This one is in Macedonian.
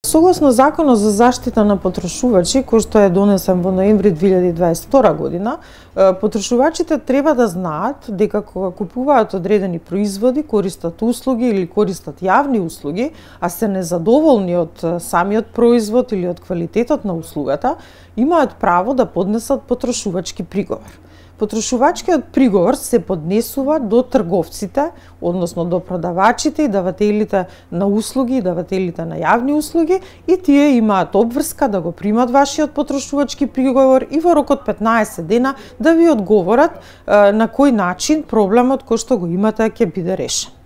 Согласно Законот за заштита на потрошувачи, кој што е донесен во ноември 2022 година, потрошувачите треба да знаат дека кога купуваат одредени производи, користат услуги или користат јавни услуги, а се незадоволни од самиот производ или од квалитетот на услугата, имаат право да поднесат потрошувачки приговор. Потрошувачкиот приговор се поднесува до трговците, односно до продавачите и давателите на услуги и давателите на јавни услуги, и тие имаат обврска да го примат вашиот потрошувачки приговор и во рок од 15 дена да ви одговорат на кој начин проблемот кој што го имате ќе биде решен.